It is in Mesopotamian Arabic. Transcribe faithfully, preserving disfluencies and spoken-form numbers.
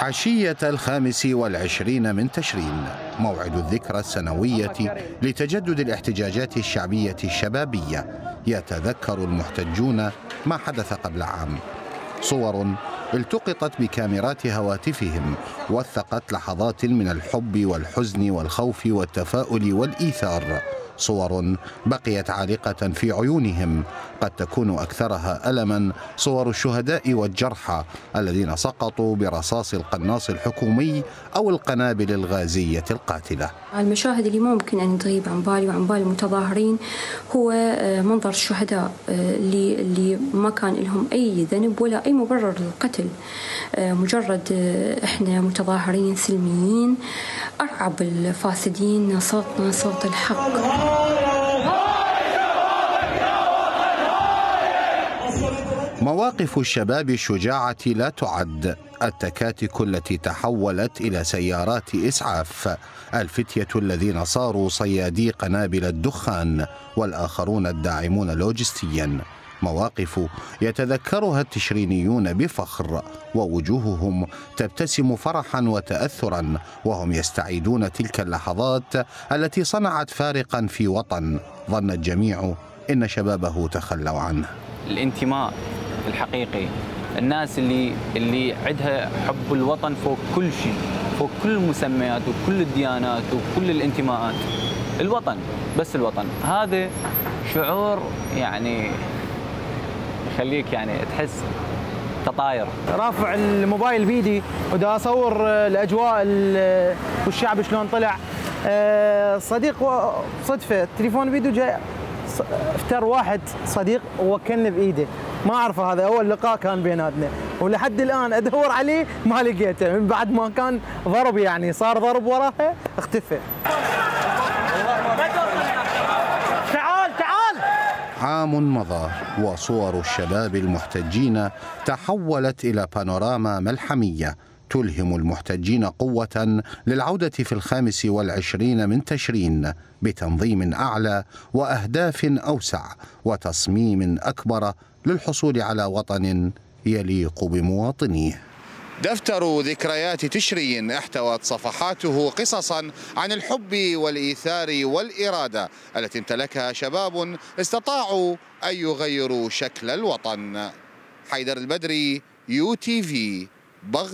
عشية الخامس والعشرين من تشرين، موعد الذكرى السنوية لتجدد الاحتجاجات الشعبية الشبابية، يتذكر المحتجون ما حدث قبل عام. صور التقطت بكاميرات هواتفهم وثقت لحظات من الحب والحزن والخوف والتفاؤل والإيثار، صور بقيت عالقة في عيونهم، قد تكون أكثرها ألماً صور الشهداء والجرحى الذين سقطوا برصاص القناص الحكومي أو القنابل الغازية القاتلة. المشاهد اللي ممكن أن تغيب عن بالي وعن بال المتظاهرين هو منظر الشهداء اللي اللي ما كان لهم أي ذنب ولا أي مبرر للقتل، مجرد إحنا متظاهرين سلميين أرعب الفاسدين، صوتنا صوت الحق. مواقف الشباب الشجاعة لا تعد، التكاتك التي تحولت إلى سيارات إسعاف، الفتية الذين صاروا صيادي قنابل الدخان، والآخرون الداعمون لوجستيا. مواقف يتذكرها التشرينيون بفخر، ووجوههم تبتسم فرحا وتأثرا وهم يستعيدون تلك اللحظات التي صنعت فارقا في وطن ظن الجميع إن شبابه تخلوا عنه. الانتماء الحقيقي، الناس اللي اللي عندها حب الوطن فوق كل شيء، فوق كل المسميات وكل الديانات وكل الانتماءات. الوطن، بس الوطن، هذا شعور يعني يخليك يعني تحس تطاير. رافع الموبايل بيدي ودا اصور الاجواء والشعب شلون طلع. صديق صدفه التليفون بيده جاي افتر واحد صديق ووكلني بايده، ما اعرفه، هذا اول لقاء كان بيناتنا ولحد الان ادور عليه ما لقيته، من بعد ما كان ضرب يعني صار ضرب وراها اختفى. تعال تعال. عام مضى وصور الشباب المحتجين تحولت إلى بانوراما ملحمية تلهم المحتجين قوة للعودة في الخامس والعشرين من تشرين بتنظيم أعلى وأهداف أوسع وتصميم أكبر للحصول على وطن يليق بمواطنيه. دفتر ذكريات تشرين احتوت صفحاته قصصا عن الحب والإيثار والإرادة التي امتلكها شباب استطاعوا أن يغيروا شكل الوطن. حيدر البدري، يو تي في، بغداد.